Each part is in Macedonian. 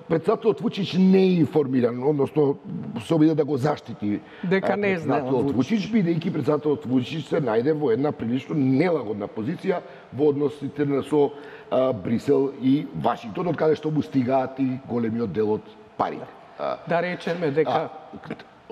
Председателот Вучич не е информиран, односно се обиде да го заштити дека не знаел Вучич, бидејќи председателот Вучич се најде во една прилично нелагодна позиција во односите со Брисел и Вашингтон, од каде што му стигаат и големиот дел од парите. Да речеме дека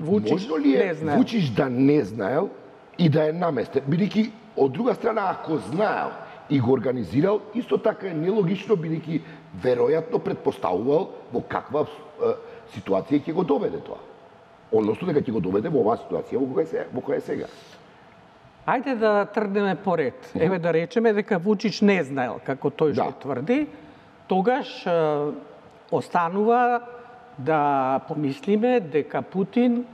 Вучич не знаел. Вучич да не знаел и да е наместен, бидејќи од друга страна ако знаел и го организирал, исто така е нелогично, бидејќи веројатно предпоставувал во каква ситуација ќе го доведе тоа. Односно дека ќе го доведе во оваа ситуација во која е сега. Ајде да тргнеме поред. Еве да речеме дека Вучич не знаел, како тој што тврди, тогаш останува да помислиме дека Путин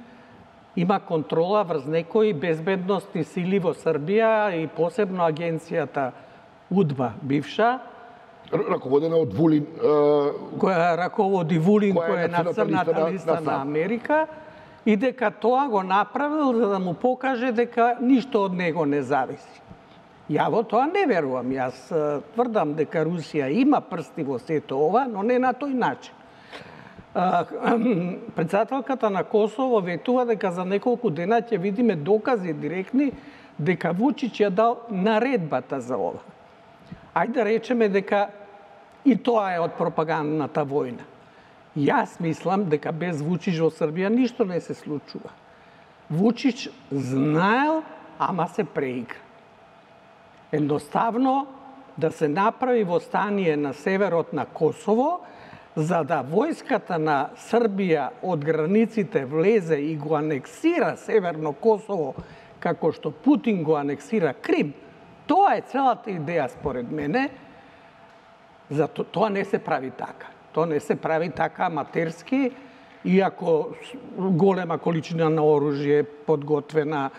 има контрола врз некои безбедносни сили во Србија и посебно агенцијата УДБА бивша, раководена од Вулин, која раководи Вулин, која е на црната листа на Америка, и дека тоа го направил за да му покаже дека ништо од него не зависи. Ја во тоа не верувам. Јас тврдам дека Русија има прсти во сето ова, но не на тој начин. Председателката на Косово ветува дека за неколку дена ќе видиме докази директни дека Вучич ја дал наредбата за ова. Ајде да речеме дека и тоа е од пропагандната војна. Јас мислам дека без Вучич во Србија ништо не се случува. Вучич знаел, ама се преигра. Едноставно да се направи восстание на северот на Косово, за да војската на Србија од границите влезе и го анексира Северно Косово, како што Путин го анексира Крим. Тоа е целата идеја според мене. Зато тоа не се прави така. Тоа не се прави така аматерски, иако голема количина на оружје подготвена,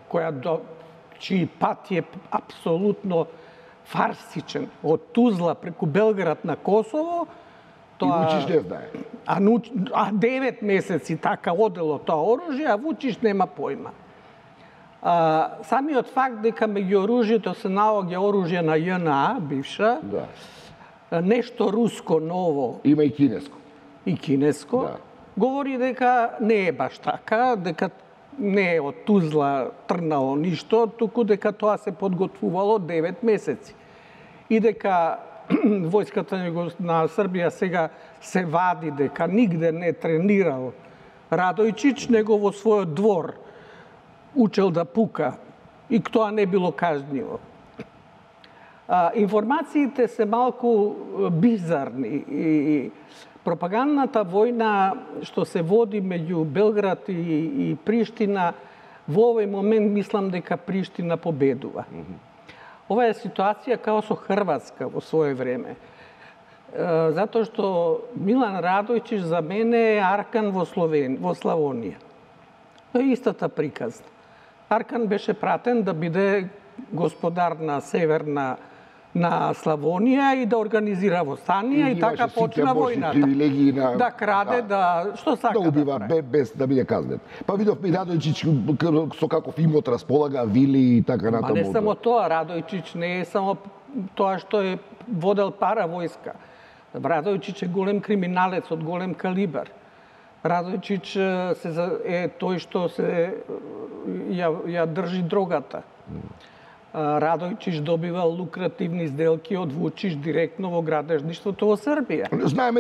чиј пат е апсолутно фарсичен. Од Тузла преку Белград на Косово, и Вучич не знае. А 9 месеци така одело тоа оружје, а Вучич нема појма. Самиот факт дека меѓу оружјето се наоѓа оружје на ЈНА, бивша, нешто руско ново. Има и кинеско. И кинеско. Говори дека не е баш така, дека не е од Тузла трнало ништо, туку дека тоа се подготвувало 9 месеци. И дека војската на Србија сега се вади дека нигде не тренирал Радојчич, него во својот двор учел да пука и тоа не било кажнjivo. Информациите се малку бизарни и пропагандната војна што се води меѓу Белград и Приштина, во овој момент мислам дека Приштина победува. Ова е ситуација као со Хрватска во своје време. Затоа што Милан Радојчич за мене е Аркан во Славонија. Тоа е истата приказна. Аркан беше пратен да биде господар на Северна на Славонија и да организира восстание и така почна војната. Да краде, што сака да убива без да биде казнет. Па видовме Радојчич со каков имот располага, вили и така натаму. Не само тоа, Радојчич не е само тоа што е водел пара војска. Радојчич е голем криминалец од голем калибар. Радојчич е тој што ја држи дрогата. Радојчич добивал лукративни сделки од Вучич директно во градежништвото во Србија. Знаеме